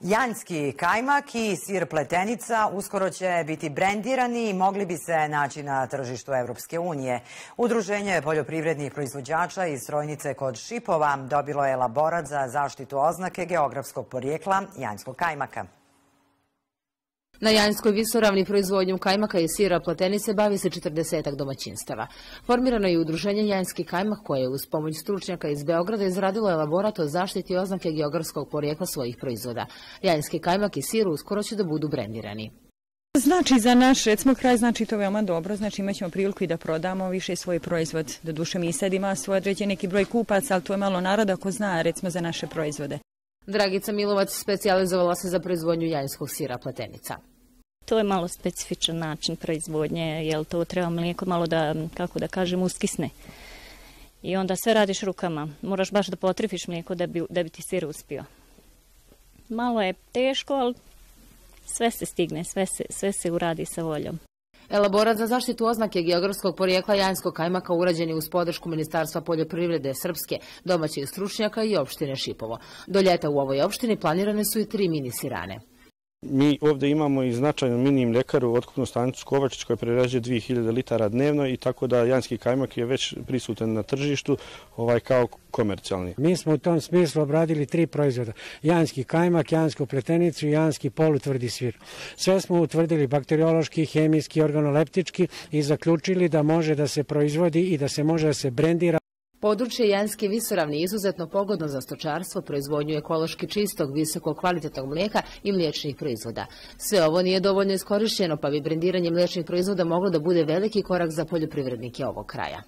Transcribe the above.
Janjski kajmak i sir pletenica uskoro će biti brendirani i mogli bi se naći na tržištu Evropske unije. Udruženje poljoprivrednih proizvođača iz Strojnice kod Šipova dobilo je elaborat za zaštitu oznake geografskog porijekla janjskog kajmaka. Na Janjskoj visoravni proizvodnjom kajmaka i sira pletenice bavi se 40-ak domaćinstava. Formirano je udruženje Janjski kajmak koje je uz pomoć stručnjaka iz Beograda izradilo elaborat o zaštiti oznake geografskog porijekla svojih proizvoda. Janjski kajmak i sir uskoro će da budu brendirani. Znači za naš recimo kraj znači to veoma dobro, znači imat ćemo priliku i da prodamo više svoj proizvod. Doduše mi sad ima svoj određen neki broj kupaca, ali to je malo naroda ko zna recimo za naše proizvode. Dragica Milovac specijalizovala se za proizvodnju janjskog sira pletenica. To je malo specifičan način proizvodnje, jer to treba mlijeko malo da, kako da kažem, uskisne. I onda sve radiš rukama. Moraš baš da potrifiš mlijeko da bi ti sir uspio. Malo je teško, ali sve se stigne, sve se uradi sa voljom. Elaborat za zaštitu oznake geografskog porijekla janjskog kajmaka urađen je uz podršku Ministarstva poljoprivrede Srpske, domaćih stručnjaka i opštine Šipovo. Do ljeta u ovoj opštini planirane su i 3 mini sirane. Mi ovdje imamo i značajnu mini mljekaru, otkupnu stanicu Kovačić koja prerađuje 2000 litara dnevno i tako da janjski kajmak je već prisutan na tržištu kao komercijalni. Mi smo u tom smislu obradili 3 proizvoda. Janjski kajmak, janjsku pletenicu i janjski polutvrdi sir. Sve smo utvrdili bakteriološki, hemijski, organoleptički i zaključili da može da se proizvodi i da se može da se brendira. Područje Janjske visoravni je izuzetno pogodno za stočarstvo, proizvodnju ekološki čistog, visoko kvalitetnog mlijeka i mliječnih proizvoda. Sve ovo nije dovoljno iskorišćeno, pa bi brendiranje mliječnih proizvoda moglo da bude veliki korak za poljoprivrednike ovog kraja.